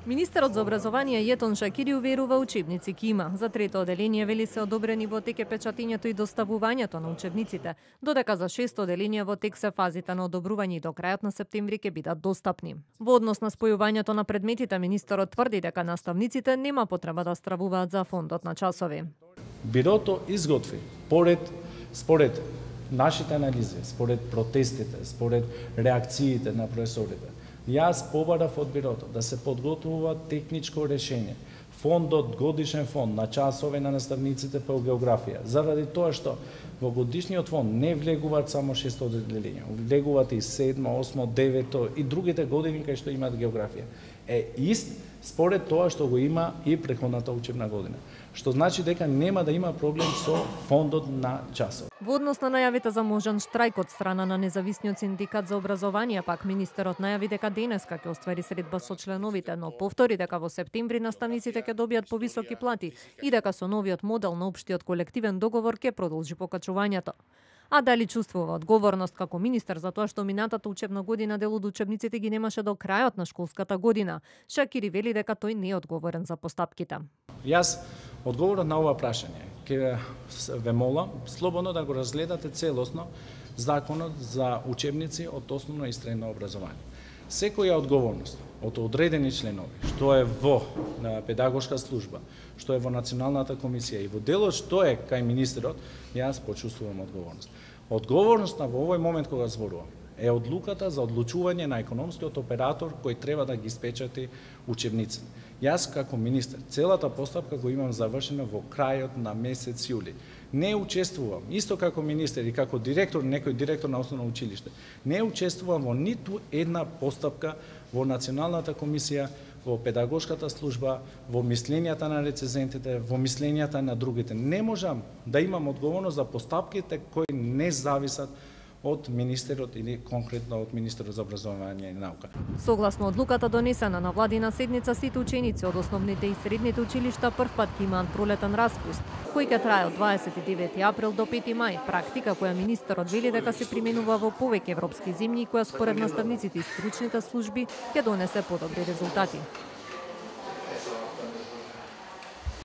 Министерот за образование Јетон Шакири уверува учебници ќе има. За трето оделение вели се одобрени во тек е печатењето и доставувањето на учебниците, додека за шесто оделение во тек се фазите на одобрување и до крајот на септември ќе бидат достапни. Во однос на спојувањето на предметите, министерот тврди дека наставниците нема потреба да стравуваат за фондот на часови. Бирото изготви според нашите анализи, според протестите, според реакциите на професорите. Јас побарав од бирото да се подготвува техничко решение, годишен фонд на часове на наставниците по географија, заради тоа што во годишниот фонд не влегуваат само 6 оделенија, влегуваат и 7, 8, 9 и другите години кај што имаат географија. Ист според тоа што го има и претходната учебна година, што значи дека нема да има проблем со фондот на часови. Во однос на најавите за можен штрајк од страна на независниот синдикат за образование, пак министерот најави дека денеска ќе оствари средба со членовите, но повтори дека во септември наставниците ќе добијат повисоки плати и дека со новиот модел на општиот колективен договор ќе продолжи покачувањето. А дали чувствува одговорност како министер за тоа што минатата учебна година дел од учебниците ги немаше до крајот на школската година? Шакири вели дека тој не е одговорен за постапките. Јас одговорот на ова прашање ќе ве молам слободно да го разгледате целосно законот за учебници од основно и средно образование. Секоја одговорност од одредени членови, што е во педагошка служба, што е во Националната комисија и во делот што е кај министерот, јас почувствувам одговорност. Одговорноста во овој момент кога зборувам е одлуката за одлучување на економскиот оператор кој треба да ги испечати учебниците. Јас како министер целата постапка го имам завршена во крајот на месец јули. Не учествувам, исто како министер и како директор, некој директор на основно училиште, не учествувам во ниту една постапка во Националната комисија, во педагошката служба, во мислењата на рецензентите, во мислењата на другите. Не можам да имам одговорност за постапките кои не зависат од министерот или конкретно од министерот за образование и наука. Согласно одлуката донесена на владина седница, сите ученици од основните и средните училишта првпат ќе имаат пролетен распуст, кој ќе трае од 29 април до 5 мај, практика која министерот вели дека се применува во повеќе европски земји и која според наставниците и стручните служби ќе донесе подобри резултати.